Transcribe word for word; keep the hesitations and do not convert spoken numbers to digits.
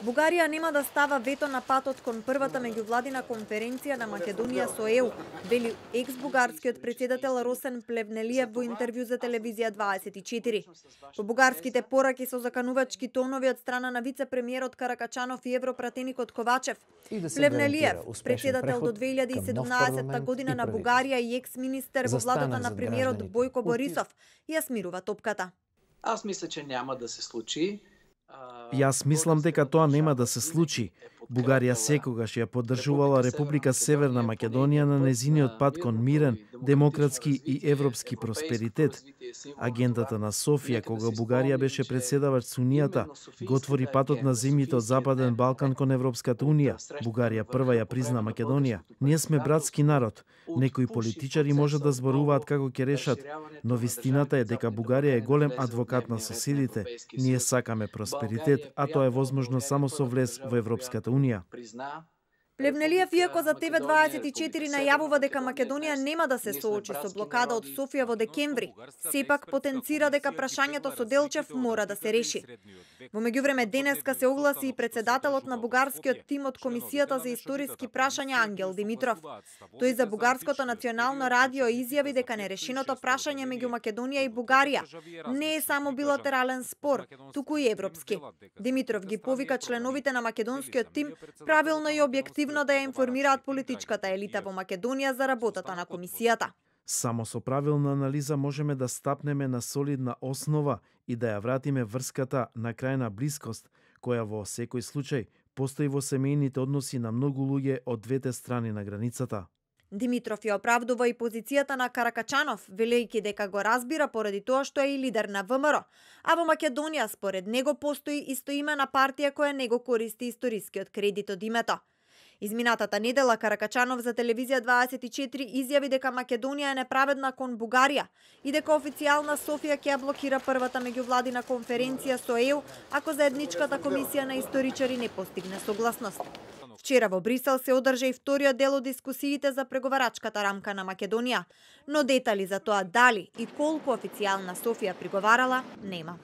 Бугарија нема да става вето на патот кон првата меѓувладина конференција на Македонија со Е У, вели екс-бугарскиот председател Росен Плевнелиев во интервју за телевизија дваесет и четири. По бугарските пораки со заканувачки тонови од страна на вице-премиерот Каракачанов и европратеникот Ковачев, Плевнелиев, председател до две илјади и седумнаесетта година на Бугарија и екс-министер во владата на премиерот Бојко Борисов, ја смирува топката. Аз мисля, че няма да се случи. Јас мислам дека тоа нема да се случи. Бугарија секогаш ја поддржувала Република Северна Македонија на незиниот пат кон мирен, демократски и европски просперитет. Агендата на Софија, кога Бугарија беше председавач со Унијата, го отвори патот на земјите од Западен Балкан кон Европската Унија. Бугарија прва ја призна Македонија. Ние сме братски народ. Некои политичари можат да зборуваат како ќе решат, но вистината е дека Бугарија е голем адвокат на соседите. Ние сакаме просперитет, а тоа е возможно само со влез во Европската Унија. Плевнелиев, иако за Т В дваесет и четири најавува дека Македонија нема да се соочи со блокада од Софија во декември, сепак потенцира дека прашањето со Делчев мора да се реши. Во меѓувреме денеска се огласи и председателот на бугарскиот тим од Комисијата за историски прашања Ангел Димитров. Тој за бугарското национално радио изјави дека нерешеното прашање меѓу Македонија и Бугарија не е само билатерален спор, туку и европски. Димитров ги повика членовите на македонскиот тим правилно и објективно да ја информираат политичката елита во Македонија за работата на комисијата. Само со правилна анализа можеме да стапнеме на солидна основа и да ја вратиме врската на крајна блискост, која во секој случај постои во семејните односи на многу луѓе од двете страни на границата. Димитров ја оправдува и позицијата на Каракачанов, велејќи дека го разбира поради тоа што е и лидер на В М Р, а во Македонија според него постои истоимена партија која не го користи историскиот кредит од името. Изминатата недела Каракачанов за телевизија дваесет и четири изјави дека Македонија е неправедна кон Бугарија и дека официјална Софија ќе ја блокира првата меѓувладина конференција со Е У ако заедничката комисија на историчари не постигне согласност. Вчера во Брисел се одржа и вториот дел од дискусиите за преговарачката рамка на Македонија, но детали за тоа дали и колку официјална Софија приговарала нема.